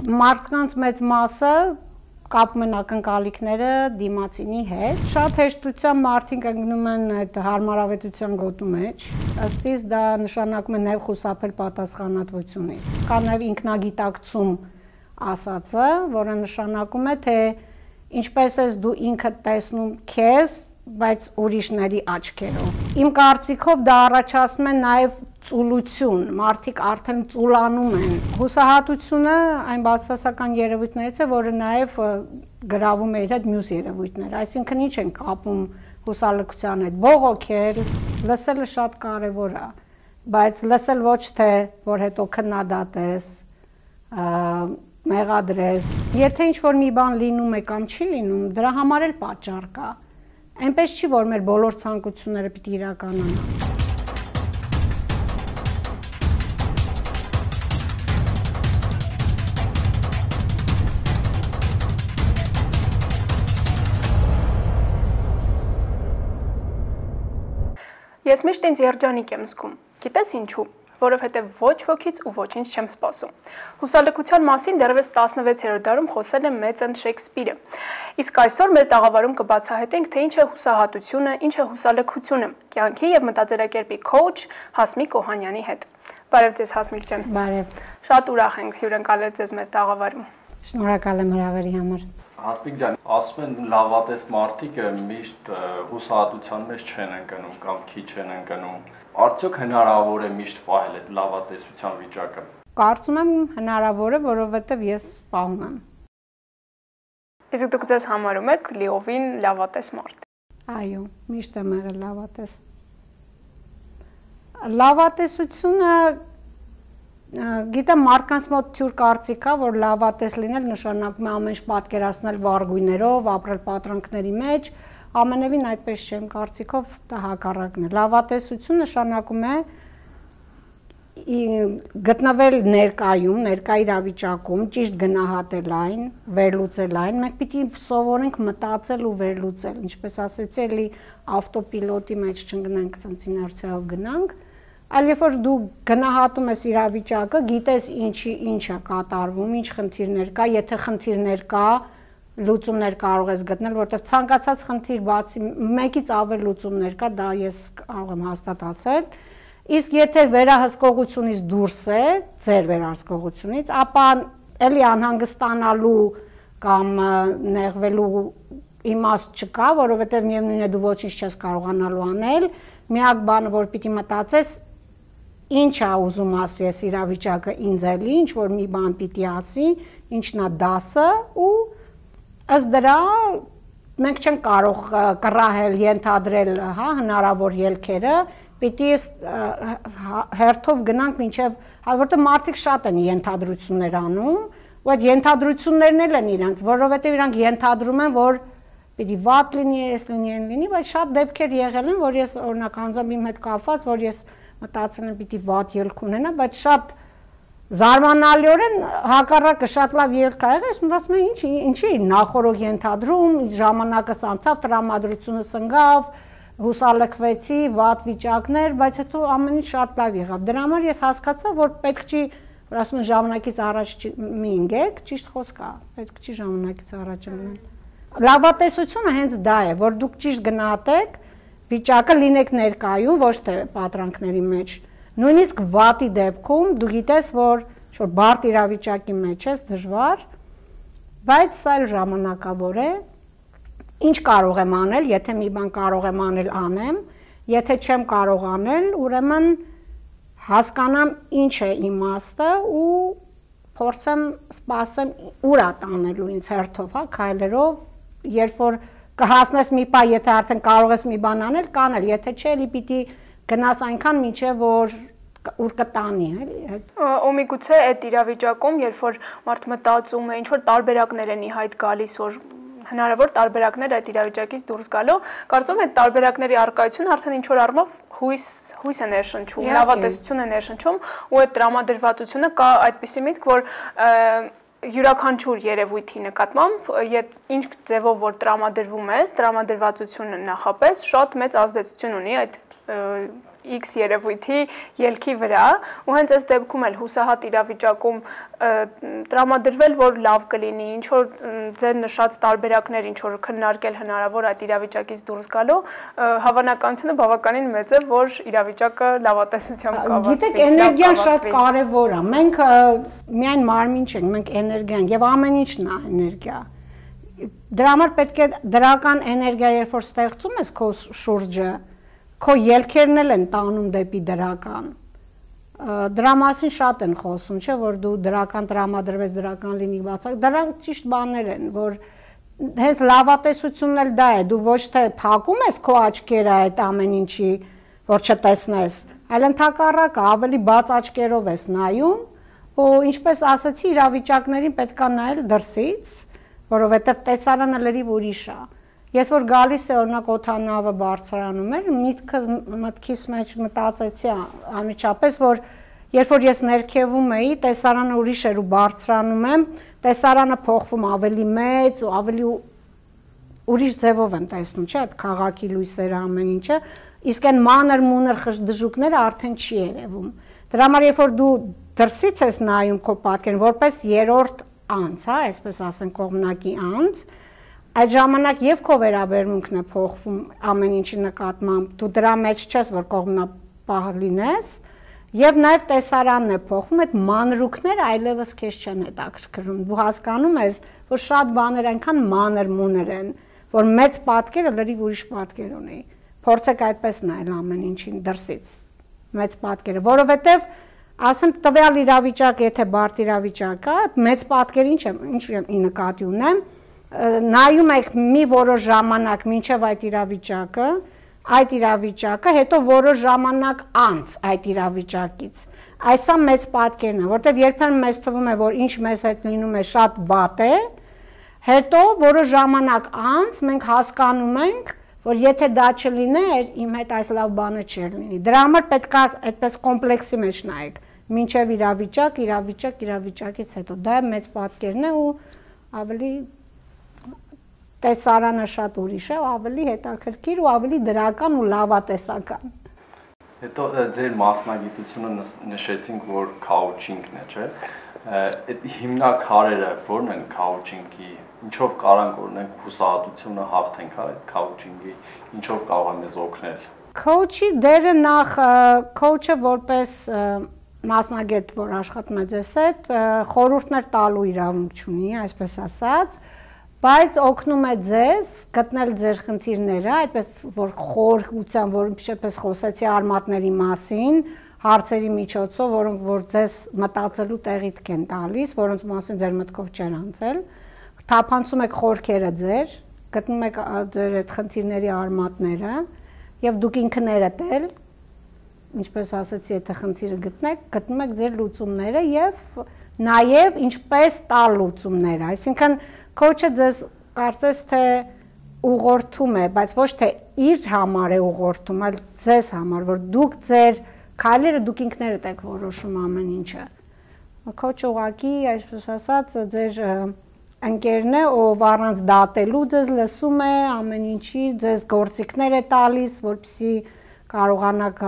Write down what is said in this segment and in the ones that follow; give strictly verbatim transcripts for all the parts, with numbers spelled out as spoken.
Մարդկանց մեծ մասը կապում են ակնկալիքները դիմացինի հետ։ Շատ հեշտությամբ մարդիկ ընկնում են այդ հարմարավետության գոտու մեջ, ըստ իս դա նշանակում է նաև խուսափել պատասխանատվությունից։ Կա նաև ինքնագիտակցում ասածը, որը նշանակում է, թե ինչպես ես դու ինքդ տեսնում քեզ, բայց ուրիշների աչքերով։ Իմ կարծիքով դա առաջացնում է նաև ծուլություն, մարդիկ արդեն ծուլանում են։ Հուսահատությունը այն բացասական երևույթներից է, որը նաև գրավում է իր հետ մյուս երևույթներ, այսինքն ինչ են կապում հուսալքության հետ, բողոքել, լսելը շատ կարևոր է, բայց լսել ոչ թե, որ հետո քննադատես, մեղադրես, եթե ինչ-որ մի բան լինում է կամ չի լինում, դրա համար էլ պատճառ կա, այնպես չի, որ մեր բոլոր ցանկությունները պիտի իրականանան։ Ես միշտ ինձ երջանիկ եմ զգում, գիտես ինչու, որովհետև ոչ ոքից ու ոչինչ չեմ սպասում։ Հուսալքության մասին դեռևս տասնվեցերորդ դարում խոսել է մեծն Շեքսպիրը։ Իսկ այսօր մեր տաղավարում կբացահայտենք, թե ինչ է հուսահատությունը, ինչ է հուսալքությունը, կյանքի եւ մտածելակերպի քոուչ Հասմիկ Օհանյանի հետ։ Բարև ձեզ Հասմիկ ջան։ Բարև։ Շատ ուրախ ենք հյուրընկալել ձեզ մեր տաղավարում։ Շնորհակալ եմ հրավերի համար։ Հասմիկ ջան, ասում են լավատես մարդիկը միշտ հուսահատության մեջ չեն ընկնում կամ քիչ են ընկնում։ Արդյոք հնարավոր է միշտ պահել այդ լավատեսության վիճակը։ Կարծում եմ հնարավոր է, որովհետև ես պահում եմ։ Իսկ դուք ձեզ համարում եք լիովին լավատես մարդ։ Այո, միշտ եմ եղել լավատես։ Լավատեսությունը Գիտեմ մարդկանց մոտ թյուր կարծիք կա, որ լավատես լինել նշանակում է ամեն ինչ պատկերացնել վառգույներով, ապրել պատրանքների մեջ, ամենևին այդպես չեմ կարծիքով դա հակառակն է։ Լավատեսություն նշանակում է գտնվել ներկայում, ներկա իրավիճակում, ճիշտ գնահատել այն, վերլուծել այն, մենք պիտի սովորենք մտածել ու վերլուծել, ինչպես ասեցի, էլի ավտոպիլոտի մեջ չընկնենք, ցած իներցիայով գնանք, այլ երբ որ դու գնահատում ես իրավիճակը, գիտես ինչի ինչ է կատարվում, ինչ խնդիրներ կա, եթե խնդիրներ կա, լուծումներ կարող ես գտնել, որտեղ ցանկացած խնդիր բացի մեկից ավել լուծումներ կա, դա ես կարող եմ հաստատ ասել, իսկ եթե վերահսկողությունից դուրս է, ձեր վերահսկողությունից, ապա էլի անհանգստանալու կամ նեղվելու իմաստ չկա, որովհետև միևնույն է դու ոչինչ չես կարողանալու անել, միակ բանը, որ պիտի մտածես, ինչ է ուզում ասի ես իրավիճակը ինձ էլի, ինչ որ մի բան պիտի ասի, ինչն է դասը ու ըստ դրա մենք չենք կարող կռահել, ենթադրել, հա, հնարավոր ելքերը, պիտի հերթով գնանք մինչև, որտեղ մարդիկ շատ են ենթադրություններ անում, ու այդ ենթադրություններն էլ են իրանք, որովհետև իրանք ենթադրում են, որ պիտի վատ լինի, ես լինի, են լինի, բայց շատ դեպքեր եղել են, որ ես օրինակ անձամբ իմ հետ կապված, որ ես մտածել եմ պիտի վատ ելք ունենա, բայց շատ զարմանալիորեն հակառակը շատ լավ ելք ա եղել, ես մտածում եմ ինչ, ինչի նախորդ ենթադրում, ժամանակս անցավ, տրամադրությունս ընկավ, հուսալքվեցի, վատ վիճակներ, բայց հետո ամեն ինչ շատ լավ եղավ։ Դրա համար ես հասկացա, որ պետք չի, որ ասում են ժամանակից առաջ մի ընկեք, ճիշտ խոսք է, պետք չի ժամանակից առաջ ընկնել։ Լավատեսությունը հենց դա է, որ դուք ճիշտ գնահատեք վիճակը, լինեք ներկայում, ոչ թե պատրանքների մեջ։ Նույնիսկ վատի դեպքում դու գիտես, որ ինչ-որ բարդ իրավիճակի մեջ ես, դժվար, բայց սա էլ ժամանակավոր է։ Ինչ կարող եմ անել, եթե մի բան կարող եմ անել, անեմ, եթե չեմ կարող անել, ուրեմն հասկանամ ինչ է իմաստը ու փորձեմ սպասեմ ուր է տանելու ինձ հերթով, հա, քայլերով, երբ որ կհասնես մի պահ, եթե արդեն կարող ես մի բան անել, կանել, եթե չէ, էլի պիտի գնաս այնքան մինչև որ ուր կտանի, էլի։ Ու միգուցե այդ իրավիճակում, երբ որ մարդ մտածում է, ինչ որ տարբերակներ են ի հայտ գալիս, որ հնարավոր տարբերակներ այդ իրավիճակից դուրս գալու, կարծում եմ այդ տարբերակների առկայությունը արդեն ինչ որ առումով հույս հույս է ներշնչում, լավատեսություն է ներշնչում, ու այդ տրամադրվածությունը կա այդպիսի միտք, որ յուրաքանչյուր երևույթի նկատմամբ, ինչ ձևով որ տրամադրվում ես, տրամադրվածությունը նախապես շատ մեծ ազդեցություն ունի այդ X երևույթի ելքի վրա ու հենց այս դեպքում էլ հուսահատ իրավիճակում տրամադրվել, որ լավ կլինի, ինչ որ ձեր նշած տարբերակներ, ինչ որ քննարկել հնարավոր այդ իրավիճակից դուրս գալու, հավանականությունը բավականին մեծ է, որ իրավիճակը լավատեսությամբ կավարտվի։ Գիտեք, էներգիան շատ կարևոր է։ Մենք միայն մարմին չենք, մենք էներգիան եւ ամեն ինչն է էներգիա։ Դրա համար պետք է դրական էներգիա, երբ որ ստեղծում ես քո շուրջը, քո ելքերն էլ են տանում դեպի դրական։ Դրա մասին շատ են խոսում, չէ՞, որ դու դրական տրամադրվես, դրական լինի բացակ։ Դրանք ճիշտ բաներ են, որ հենց լավատեսությունն էլ դա է, դու ոչ թե փակում ես քո աչքերը այդ ամեն ինչի, որ չտեսնես, այլ ընդհակառակը ավելի բաց աչքերով ես նայում, ու ինչպես ասացի, իրավիճակներին պետք է նայել դրսից, որովհետև տեսարանը լրիվ ուրիշ է։ Ես որ գալիս է օրինակ օդանավը բարձրանում էր, միտքս մտքիս մեջ մտածեցի անմիջապես, որ երբ որ ես ներքևում էի, տեսարանը ուրիշ էր ու բարձրանում եմ, տեսարանը փոխվում ավելի մեծ ու ավելի ուրիշ ձևով եմ տեսնում, չէ՞, այդ քաղաքի լույսերը ամեն ինչը, իսկ այն մանր մունր դժուկները արդեն չի երևում։ Դրա համար երբ որ դու դրսից ես նայում քո պատկերն, որպես երրորդ անց, հա, այսպես ասենք կողմնակի անց, այդ ժամանակ եւ քո վերաբերմունքն է փոխվում ամեն ինչի նկատմամբ, դու դրա մեջ չես, որ կողմնապահ լինես, եւ նաեւ տեսարանն է փոխվում, այդ մանրուքները այլևս քեզ չեն հետաքրքրում։ Դու հասկանում ես, որ շատ բաներ այնքան մանր մունր են, որ մեծ պատկերը լրիվ ուրիշ պատկեր ունի։ Փորձեք այդպես նայել ամեն ինչին դրսից, մեծ պատկերը, որովհետեւ ասեմ տվյալ իրավիճակը, եթե բարդ իրավիճակ է, մեծ պատկեր ինչ եմ, ինչ ի նկատի ունեմ, նայում եք մի որոշ ժամանակ մինչև այդ իրավիճակը, այդ իրավիճակը, հետո որոշ ժամանակ անց այդ իրավիճակից։ Այսա մեծ պատկերն է, որտեղ երբեմն մեզ թվում է, որ ինչ մեզ հետ լինում է շատ վատ է, հետո որոշ ժամանակ անց մենք հասկանում ենք, որ եթե դա չլիներ, իմ հետ այս լավ բանը չէր լինի։ Դրա համար պետք է այդպես կոմպլեքսի մեջ նայեք, մինչև իրավիճակ, իրավիճակ, իրավիճակից հետո։ Դա մեծ պատկերն է ու ավելի տեսարանը շատ ուրիշ է, ավելի հետաքրքիր ու ավելի դրական ու լավատեսական։ Հետո ձեր մասնագիտությունը նշեցինք, որ քաուչինգն է, չէ՞։ Այդ հիմնաքարերը ո՞րն են քաուչինգի, ինչով կարանք օրինակ հուսահատությունը հաղթենք այդ քաուչինգի, ինչով կարող է մեզ օգնել։ Քոուչի դերը նախ քոուչը որպես մասնագետ, որ աշխատում է ձեզ հետ, խորհուրդներ տալու իրավունք չունի, այսպես ասած, բայց օգնում է ձեզ գտնել ձեր խնդիրները, այդպես որ խորհրդությամբ, որ ինչպես խոսեցի արմատների մասին, հարցերի միջոցով, որոնք որ ձեզ մտածելու տեղիք են տալիս, որոնց մասին ձեր մտքով չեն անցել, թափանցում եք խորքերը ձեր, գտնում եք ձեր այդ խնդիրների արմատները եւ դուք ինքներդ էլ, ինչպես ասացի, եթե խնդիրը գտնեք, գտնում եք ձեր լուծումները եւ նաեւ ինչպես տալ լուծումները, այսինքն քոուչը ձեզ կարծես թե ուղղորդում է, բայց ոչ թե իր համար է ուղղորդում, այլ ձեզ համար, որ դուք ձեր քայլերը դուք ինքներդ եք որոշում ամեն ինչը։ Քոուչը ուղղակի, այսպես ասած, ձեր ընկերն է, ով առանց դատելու ձեզ լսում է, ամեն ինչի ձեզ գործիքներ է տալիս, որպեսզի կարողանաք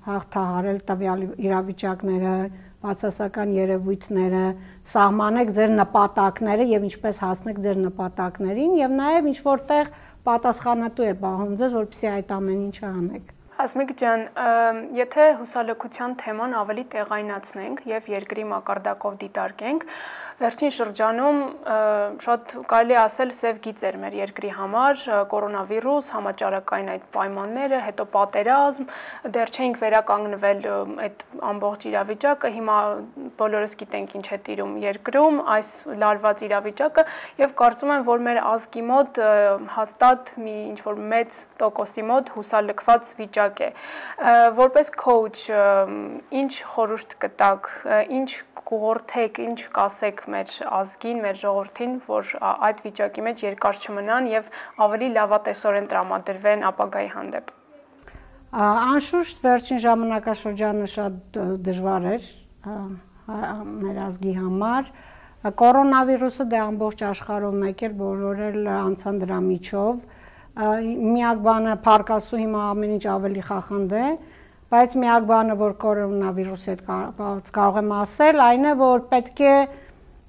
հաղթահարել տվյալ իրավիճակները, բացասական երևույթները, սահմանեք ձեր նպատակները եւ ինչպես հասնեք ձեր նպատակներին եւ նաեւ ինչ որտեղ պատասխանատու է պահում ձեզ, որպեսզի այդ ամեն ինչը անեք։ Հասմիկ ջան, եթե հուսալքության թեման ավելի տեղայնացնենք եւ երկրի մակարդակով դիտարկենք, վերջին շրջանում շատ կարելի ասել սև գիծ էր մեր երկրի համար, կորոնավիրուս, համաճարակային այդ պայմանները, հետո պատերազմ, դեռ չէինք վերականգնվել այդ ամբողջ իրավիճակը, հիմա բոլորս գիտենք ինչ է տիրում երկրում, այս լարված իրավիճակը եւ կարծում եմ, որ մեր ազգի մոտ հաստատ մի ինչ որ մեծ տոկոսի մոտ հուսալքված վիճակ է։ Որպես քոուչ, ինչ խորհուրդ կտաք, ինչ կուղորդեք, ինչ կասեք մեր ազգին, մեր ժողովրդին, որ այդ վիճակի մեջ երկար չմնան եւ ավելի լավատեսորեն տրամադրվեն ապագայի հանդեպ։ Անշուշտ վերջին ժամանակաշրջանը շատ դժվար էր մեր ազգի համար։ Կորոնավիրուսը դե ամբողջ աշխարհով մեկ էլ բոլոր էլ անցան դրա միջով։ Միակ բանը փառք Աստծո հիմա ամեն ինչ ավելի խախանդ է, բայց միակ բանը, որ կորոնավիրուսի հետ կարող եմ ասել, այն է, որ պետք է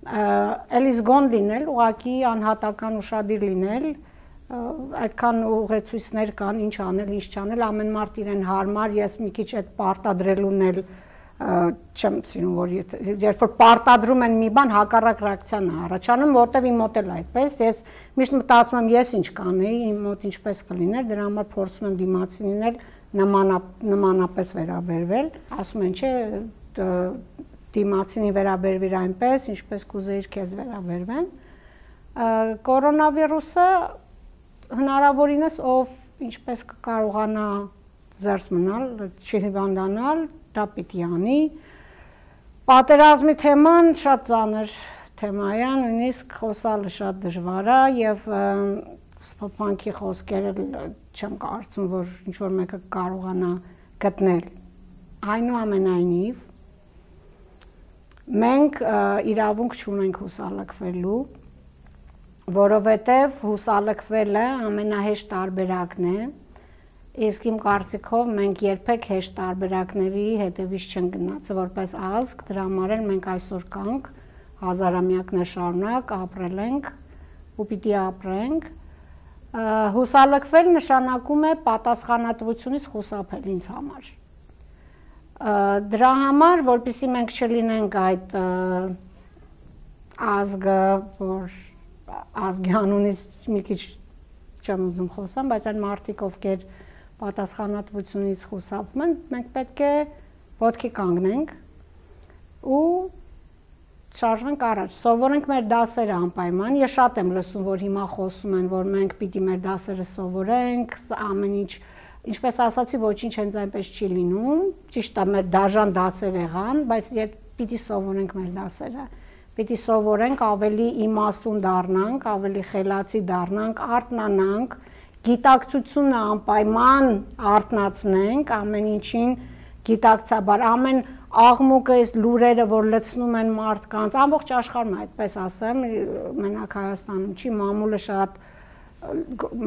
էլի զգոն լինել, ուղղակի անհատական ուշադիր լինել, այդքան ուղեցույցներ կան, ինչ անել, ինչ չանել, ամեն մարդ իրեն հարմար, ես մի քիչ այդ պարտադրելուն էլ չեմ սիրում, որ երբ որ պարտադրում են մի բան, հակառակ ռեակցիան է առաջանում, որտեվ իմ մոտ էլ այդպես, ես միշտ մտածում եմ, ես ինչ կանեի, իմ մոտ ինչպես կլիներ, դրա համար փորձում եմ դիմացին լինել, նմանապես վերաբերվել, ասում են, չէ, դիմացինի վերաբերվիր այնպես, ինչպես կուզեիր քեզ վերաբերվեն։ Կորոնավիրուսը հնարավորինս ով ինչպես կկարողանա զերծ մնալ, չհիվանդանալ, դա պիտի անի։ Պատերազմի թեման շատ ծանր թեմա է, նույնիսկ խոսալը շատ դժվար է եւ սփոփանքի խոսքերը չեմ կարծում, որ ինչ որ մեկը կարողանա գտնել։ Այնուամենայնիվ մենք իրավունք չունենք հուսալքվելու, որովհետև հուսալքվելը ամենահեշտ տարբերակն է, իսկ իմ կարծիքով մենք երբեք հեշտ տարբերակների հետևից չեն գնացել որպես ազգ, դրա համար էլ մենք այսօր կանք, հազարամյակներ շարունակ ապրել ենք ու պիտի ապրենք։ Հուսալքվել նշանակում է պատասխանատվությունից խուսափել ինձ համար։ Դրա համար, որպեսզի մենք չլինենք այդ ազգը, որ ազգի անունից մի քիչ չեմ ուզում խոսամ, բայց այն մարդիկ, ովքեր պատասխանատվությունից խուսափում են, մենք պետք է ոտքի կանգնենք ու շարժվենք առաջ, սովորենք մեր դասերը անպայման։ Ես շատ եմ լսում, որ հիմա խոսում են, որ մենք պիտի մեր դասերը սովորենք, ամեն ինչ, ինչպես ասացի, ոչինչ հենց այնպես չի լինում, ճիշտ է, մեր դաժան դասեր եղան, բայց պիտի սովորենք մեր դասերը, պիտի սովորենք, ավելի իմաստուն դառնանք, ավելի խելացի դառնանք, արթնանանք, գիտակցությունը անպայման արթնացնենք, ամեն ինչին գիտակցաբար, ամեն աղմուկը, այս լուրերը, որ լցնում են մարդկանց, ամբողջ աշխարհում այդպես ասեմ, մենակ Հայաստանում չի, մամուլը շատ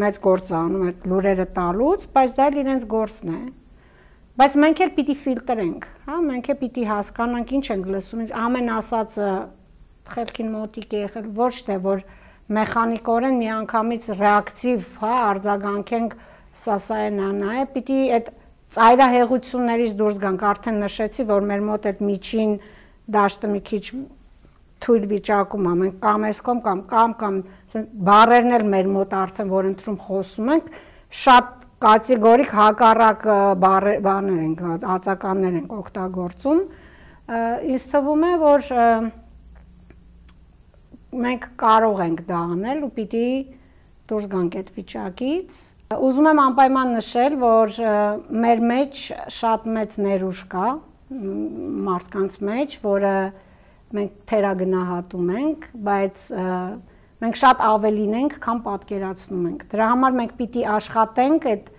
մեծ գործ անում այդ լուրերը տալուց, բայց դա էլ իրենց գործն է։ Բայց մենք էլ պիտի ֆիլտրենք, հա, մենք էլ պիտի հասկանանք ինչ ենք լսում, ամեն ասածը խելքին մոտիկ է եղել, ոչ թե որ մեխանիկորեն միանգամից ռեակտիվ, հա, արձագանքենք, սա սա է, նա է, պիտի այդ ծայրահեղություններից դուրս գանք, արդեն նշեցի, որ մեր մոտ այդ միջին դաշտը մի քիչ թույլ վիճակում է, մենք կամ այս կողմ կամ կամ կամ բառերն էլ մեր մոտ արդեն որ ընտրում խոսում ենք, շատ կատեգորիկ հակառակ բառեր ենք, ածականներ ենք օգտագործում, ինձ թվում է, որ մենք կարող ենք դա անել ու պիտի դուրս գանք այդ վիճակից։ Ուզում եմ անպայման նշել, որ մեր մեջ շատ մեծ ներուժ կա մարդկանց մեջ, որը մենք թերագնահատում ենք, բայց մենք շատ ավելին ենք, քան պատկերացնում ենք։ Դրա համար մենք պիտի աշխատենք այդ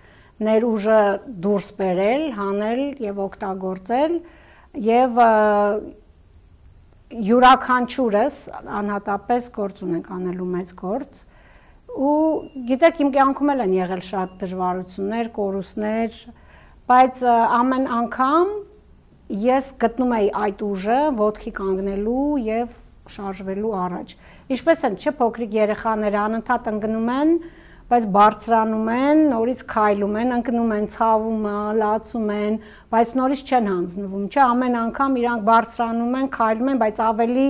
ներուժը դուրս բերել, հանել եւ օգտագործել եւ յուրաքանչյուրս անհատապես գործ ունենք անելու մեծ գործ ու գիտեք իմ կյանքում էլ են եղել շատ դժվարություններ, կորուստներ, բայց ամեն անգամ ես գտնում էի այդ ուժը ոտքի կանգնելու եւ շարժվելու առաջ։ Ինչպես են, չէ, փոքրիկ երեխաները անընդհատ ընկնում են, բայց բարձրանում են, նորից քայլում են, ընկնում են, ցավում, լացում են, բայց նորից չեն հանձնվում, չէ, ամեն անգամ իրանք բարձրանում են, քայլում են, բայց ավելի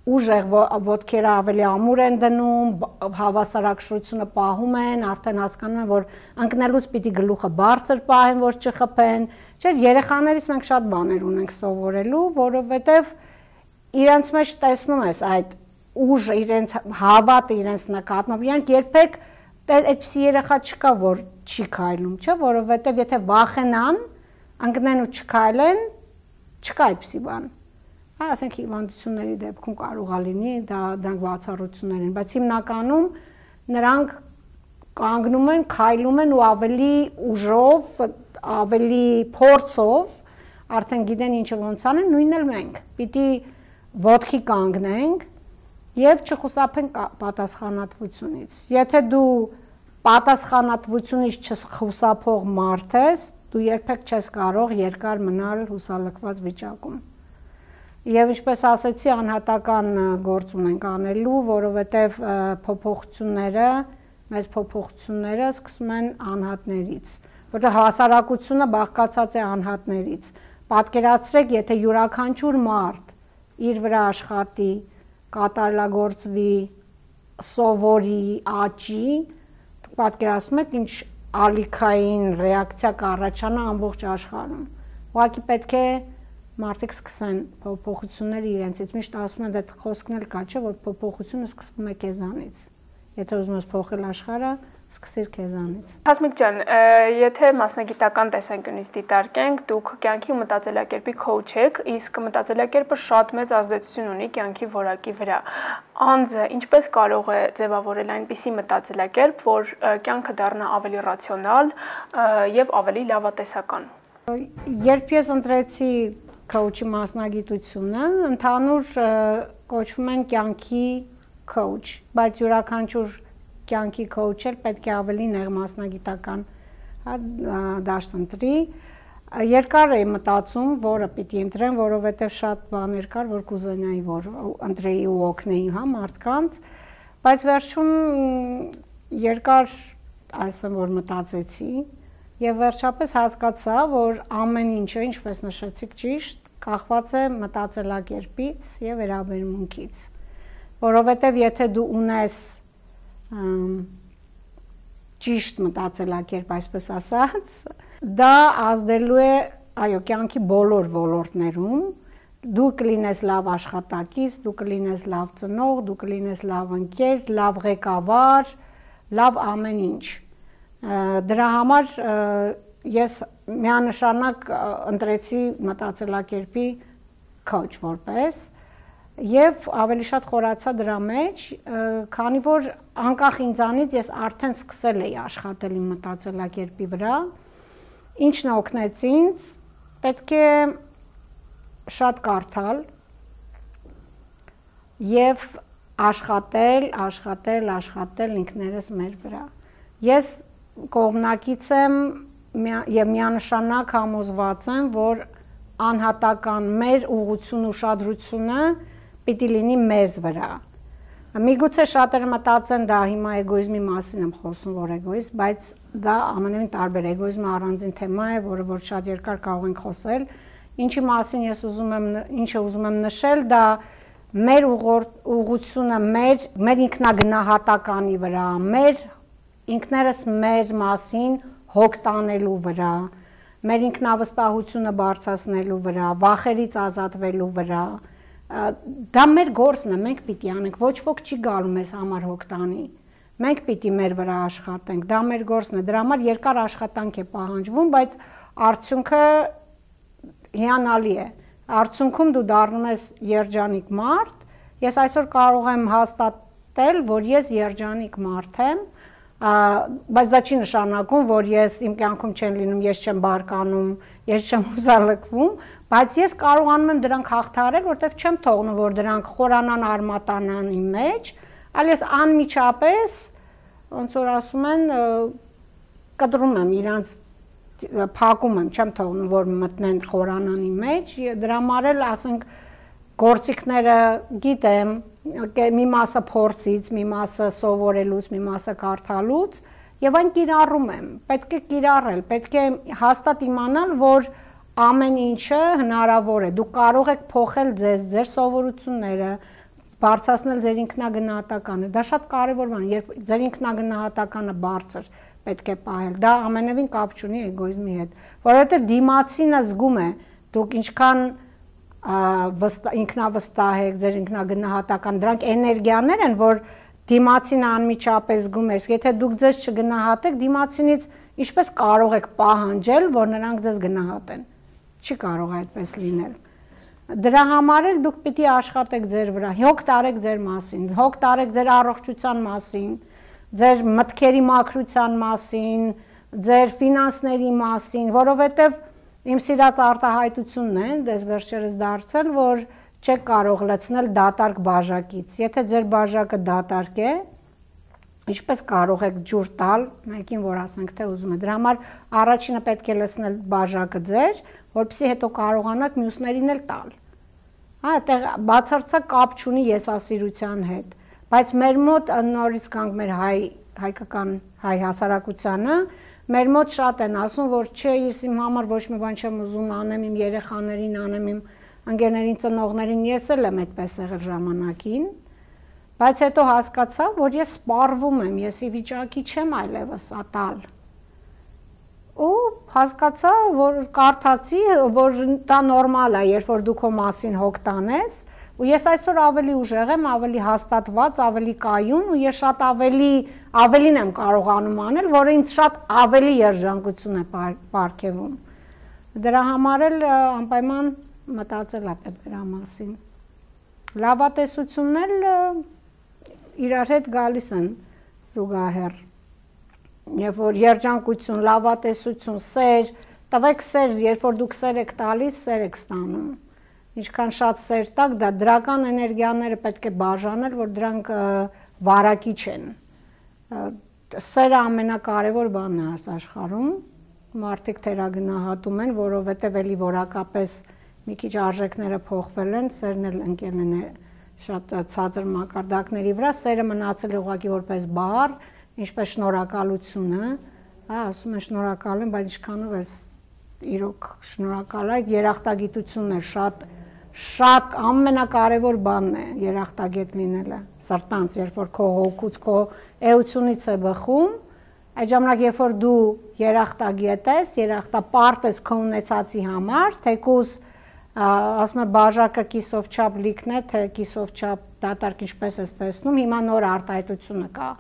ուժեղ ոտքերը ավելի ամուր են դնում, հավասարակշռությունը պահում են, արդեն հասկանում են, որ ընկնելուց պիտի գլուխը բարձր պահեն, որ չխփեն, չէ, երեխաներից մենք շատ բաներ ունենք սովորելու, որովհետև իրենց մեջ տեսնում ես այդ ուժը, իրենց հավատը իրենց նկատմամբ, իրանք երբեք այդպիսի երեխա չկա, որ չի քայլում, չէ, որովհետև եթե վախենան, ընկնեն ու չքայլեն, չկա այդպիսի բան։ Հա, ասենք հիվանդությունների դեպքում կարող է լինի, դա դրանք բացառություններ են, բայց հիմնականում նրանք կանգնում են, քայլում են ու ավելի ուժով, ավելի փորձով, արդեն գիտեն ինչը ոնց անեն, նույնն էլ մենք։ Պիտի ոտքի կանգնենք եւ չխուսափենք պատասխանատվությունից։ Եթե դու պատասխանատվությունից չխուսափող մարդ ես, դու երբեք չես կարող երկար մնալ հուսալքված վիճակում։ Եվ ինչպես ասեցի, անհատական գործ ունենք անելու, որովհետև փոփոխությունները, մեծ փոփոխությունները սկսում են անհատներից, որտեղ հասարակությունը բաղկացած է անհատներից։ Պատկերացրեք, եթե յուրաքանչյուր մարդ իր վրա աշխատի, կատարելագործվի, սովորի, աճի, դուք պատկերացնում եք ինչ ալիքային ռեակցիա կառաջանա ամբողջ աշխարհում։ Ուղղակի պետք է մարդիկ սկսեն փոփոխությունները իրենցից, միշտ ասում են, դա խոսքն էլ կա, չէ, որ փոփոխությունը սկսվում է քեզանից։ Եթե ուզում ես փոխել աշխարհը, սկսիր քեզանից։ Հասմիկ ջան, եթե մասնագիտական տեսանկյունից դիտարկենք, դուք կյանքի ու մտածելակերպի քոուչ եք, իսկ մտածելակերպը շատ մեծ ազդեցություն ունի կյանքի որակի վրա։ Անձը ինչպես կարող է ձևավորել այնպիսի մտածելակերպ, որ կյանքը դառնա ավելի ռացիոնալ եւ ավելի լավատեսական։ Երբ ես ընտրեցի քոուչի մասնագիտությունը, ընդհանուր կոչվում են կյանքի քոուչ, բայց յուրաքանչյուր կյանքի քոուչել պետք է ավելի նեղ մասնագիտական դաշտ ընտրի։ Երկար էի մտածում, որը պիտի ընտրեմ, որովհետև շատ բաներ կար, որ կուզենայի, որ ընտրեի ու օգնեի հա մարդկանց, բայց վերջում երկար ասեմ, որ մտածեցի եւ վերջապես հասկացա, որ ամեն ինչը, ինչպես նշեցիք ճիշտ, կախված է մտածելակերպից եւ վերաբերմունքից, որովհետեւ եթե դու ունես ճիշտ մտածելակերպ, այսպես ասած, դա ազդելու է, այո, կյանքի բոլոր ոլորտներում, դու կլինես լավ աշխատակից, դու կլինես լավ ծնող, դու կլինես լավ ընկեր, լավ ղեկավար, լավ ամեն ինչ։ Դրա համար ես միանշանակ ընտրեցի մտածելակերպի քոուչ որպես եւ ավելի շատ խորացա դրա մեջ, քանի որ անկախ ինձանից ես արդեն սկսել էի աշխատել իմ մտածելակերպի վրա, ինչն օգնեց ինձ, պետք է շատ կարդալ եւ աշխատել, աշխատել, աշխատել ինքներս մեր վրա։ Ես կողմնակից եմ եւ միանշանակ համոզված եմ, որ անհատական մեր ուղղություն ուշադրությունը պիտի լինի մեզ վրա։ Միգուցե շատերը մտածեն դա հիմա էգոիզմի մասին եմ խոսում, որ էգոիզմ, բայց դա ամենևին տարբեր էգոիզմը առանձին թեմա է, որը որ շատ երկար կարող ենք խոսել։ Ինչի մասին ես ուզում եմ, ինչը ուզում եմ նշել, դա մեր ուղղությունը մեր մեր ինքնագնահատականի վրա, մեր ինքներս մեր մասին հոգ տանելու վրա, մեր ինքնավստահությունը բարձրացնելու վրա, վախերից ազատվելու վրա, դա մեր գործն է, մենք պիտի անենք, ոչ ոք չի գալու մեզ համար հոգ տանի, մենք պիտի մեր վրա աշխատենք, դա մեր գործն է, դրա համար երկար աշխատանք է պահանջվում, բայց արդյունքը հիանալի է, արդյունքում դու դառնում ես երջանիկ մարդ, ես այսօր կարող եմ հաստատել, որ ես երջանիկ մարդ եմ, բայց դա չի նշանակում, որ ես իմ կյանքում չեն լինում, ես չեմ բարկանում, ես չեմ հուսալքվում, բայց ես կարողանում եմ դրանք հաղթահարել, որտեվ չեմ թողնում, որ դրանք խորանան, արմատանան իմ մեջ, այլ ես անմիջապես, ոնց որ ասում են, կտրում եմ իրանց, փակում եմ, չեմ թողնում, որ մտնեն խորանան իմ մեջ, դրա համար էլ ասենք գործիքները գիտեմ, մի մասը փորձից, մի մասը սովորելուց, մի մասը կարդալուց եւ այն կիրառում եմ, պետք է կիրառել, պետք է հաստատ իմանալ, որ ամեն ինչը հնարավոր է, դուք կարող եք փոխել ձեզ, ձեր սովորությունները, բարձրացնել ձեր ինքնագնահատականը, դա շատ կարեւոր բան է, երբ ձեր ինքնագնահատականը բարձր պետք է պահել, դա ամենևին կապ չունի էգոիզմի հետ, որովհետեւ դիմացինը զգում է, դուք ինչքան ինքնավստահ եք, ձեր ինքնագնահատական, դրանք էներգիաներ են, որ դիմացինը անմիջապես զգում ես, եթե դուք ձեզ չգնահատեք, դիմացինից ինչպես կարող եք պահանջել, որ նրանք ձեզ գնահատեն, չի կարող այդպես լինել, դրա համար էլ դուք պիտի աշխատեք ձեր վրա, հոգ տարեք ձեր մասին, հոգ տարեք ձեր առողջության մասին, ձեր մտքերի մաքրության մասին, ձեր ֆինանսների մասին, որովհետև իմ սիրած արտահայտությունն է, դες վերջերս դարձել, որ չեք կարող լցնել դատարկ բաժակից։ Եթե ձեր բաժակը դատարկ է, Ինչպես կարող եք ջուր տալ մեկին, որ ասենք թե ուզում է։ Դրա համար առաջինը պետք է լցնել բաժակը ձեր, որպեսզի հետո կարողանաք մյուսներին էլ տալ։ Հա, այդտեղ բացարձակ կապ չունի եսասիրության հետ, բայց մեր մոտ նորից կանք մեր հայ հայկական հայ հասարակությանը, մեր մոտ շատ են ասում, որ չէ, ես իմ համար ոչ մի բան չեմ ուզում անեմ, իմ երեխաներին անեմ, իմ ընկերներին, ծնողներին, ես էլ եմ այդպես եղել ժամանակին։ Բայց հետո հասկացա, որ ես սպառվում եմ, ես ի վիճակի չեմ այլևս ատալ։ Ու հասկացա, որ կարդացի, որ դա նորմալ է, երբ որ դու քո մասին հոգ տանես, ու ես այսօր ավելի ուժեղ եմ, ավելի հաստատված, ավելի կայուն, ու ես շատ ավելի ավելին եմ կարողանում անել, որը ինձ շատ ավելի երջանկություն է պարգևում։ Դրա համար էլ անպայման մտածել է պետք դրա մասին։ Լավատեսությունն էլ իրար հետ գալիս են զուգահեռ, երբ որ երջանկություն, լավատեսություն, սեր, տվեք սեր, երբ որ դուք սեր եք տալիս, սեր եք ստանում, ինչքան շատ սեր տակ, դա դրական էներգիաները պետք է բաժանել, որ դրանք վարակիչ են, սերը ամենակարևոր բանն է այս աշխարհում, մարդիկ թերագնահատում են, որովհետև էլի որակապես մի քիչ արժեքները փոխվել են, սերն էլ ընկել են շատ ցածր մակարդակների վրա, սերը մնացել է ուղղակի որպես բառ, ինչպես շնորհակալությունը, հա, ասում են շնորհակալ եմ, բայց ինչքանով ես իրոք շնորհակալ եք, երախտագիտությունն է շատ շատ ամենակարևոր բանն է երախտագետ լինելը, սրտանց, երբ որ քո հոգուց, քո էությունից է բխում, այդ ժամանակ երբ որ դու երախտագետ ես, երախտապարտ ես քո ունեցածի համար, թեկուզ ասում է բաժակը կիսով չափ լիքն է, թե կիսով չափ դատարկ ինչպես ես տեսնում, հիմա նոր արտահայտությունը կա,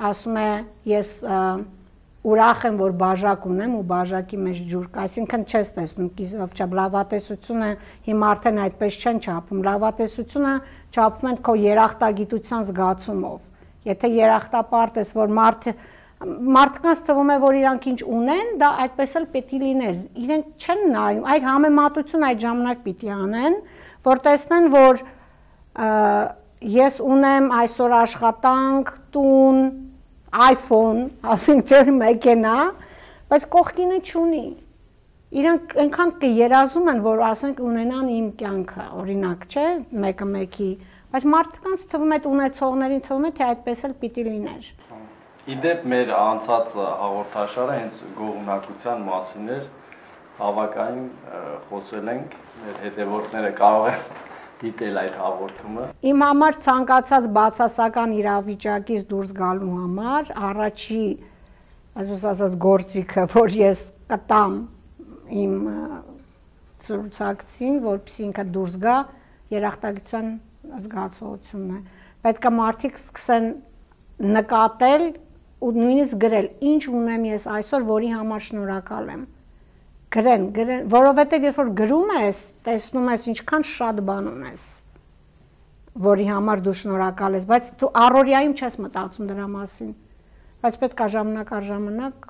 ասում է ես ուրախ եմ, որ բաժակ ունեմ ու բաժակի մեջ ջուր կա, այսինքն չես տեսնում կիսով չափ, լավատեսությունը հիմա արդեն այդպես չեն չափում, լավատեսությունը չափում են քո երախտագիտության զգացումով, եթե երախտապարտ ես, որ մարդ մարդկանց թվում է, որ իրանք ինչ ունեն, դա այդպես էլ պետք է լիներ, իրենք չեն նայում, այդ համեմատություն այդ ժամանակ պիտի անեն, որ տեսնեն, որ ես ունեմ այսօր աշխատանք, տուն, iPhone, ասենք թե մեքենա, բայց կողքինը չունի, իրանք այնքան կերազում են, որ ասենք ունենան իմ կյանքը, օրինակ, չէ, մեկը մեկի, բայց մարդկանց թվում է, ունեցողներին թվում է, թե այդպես էլ պիտի լիներ։ Իդեպ մեր անցած հաղորդաշարը հենց գոհունակության մասին էր, բավականին խոսել ենք, մեր հետևորդները կարող են դիտել այդ հաղորդումը։ Իմ համար ցանկացած բացասական իրավիճակից դուրս գալու համար առաջի, այսպես ասած, գործիքը, որ ես կտամ իմ ցուցակցին, որպեսզի ինքը դուրս գա, երախտագիտության զգացողությունն է։ Պետք է մարդիկ սկսեն նկատել ու նույնիսկ գրել, ինչ ունեմ ես այսօր, որի համար շնորհակալ եմ։ Գրեն, գրեն, որովհետև երբ որ գրում ես, տեսնում ես ինչքան շատ բան ունես, որի համար դու շնորհակալ ես, բայց դու առօրյայում չես մտածում դրա մասին, բայց պետք է ժամանակ առ ժամանակ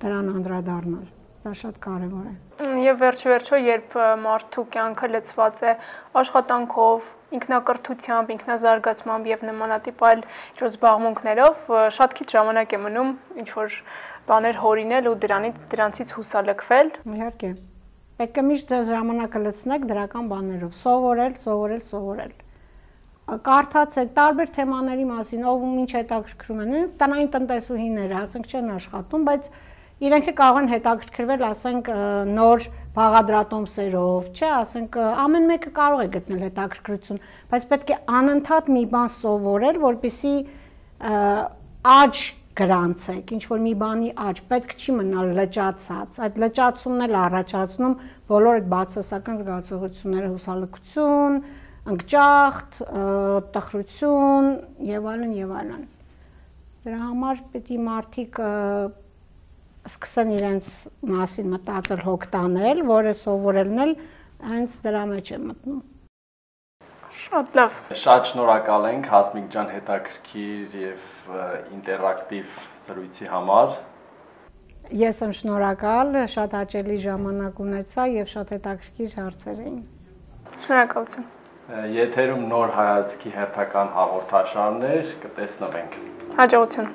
դրան անդրադառնալ, դա շատ կարևոր է։ Եվ վերջ-վերջո, երբ մարդու կյանքը լցված է աշխատանքով, ինքնակրթությամբ, ինքնազարգացմամբ եւ նմանատիպ այլ ինչ-որ զբաղմունքներով, շատ քիչ ժամանակ է մնում ինչ-որ բաներ հորինել ու դրանից դրանցից հուսալքվել։ Իհարկե։ Պետք է միշտ ձեր ժամանակը լցնեք դրական բաներով, սովորել, սովորել, սովորել։ Կարդացեք տարբեր թեմաների մասին, ով ինչ հետաքրքրում են, տնային տնտեսուհիները, ասենք չեն աշխատում, բայց իրենք կարող են հետաքրքրվել, ասենք նոր բաղադրատոմսերով, չէ, ասենք ամեն մեկը կարող է գտնել հետաքրքրություն, բայց պետք է անընդհատ մի բան սովորել, որպեսզի աճ գրանցեք, ինչ որ մի բանի աճ, պետք չի մնալ լճացած, այդ լճացումն էլ առաջացնում բոլոր այդ բացասական զգացողությունները, հուսալքություն, ընկճախտ, տխրություն եւ այլն եւ այլն։ Դրա համար պետք է մարդիկ սկսեն իրենց մասին մտածել, հոգ տանել, որը սովորելն էլ հենց դրա մեջ է մտնում։ Շատ լավ։ Շատ շնորհակալ ենք Հասմիկ ջան հետաքրքիր եւ ինտերակտիվ զրույցի համար։ Ես եմ շնորհակալ, շատ հաճելի ժամանակ ունեցա եւ շատ հետաքրքիր հարցեր էին։ Շնորհակալություն։ Եթերում նոր հայացքի հերթական հաղորդաշարներ կտեսնվենք։ Հաջողություն։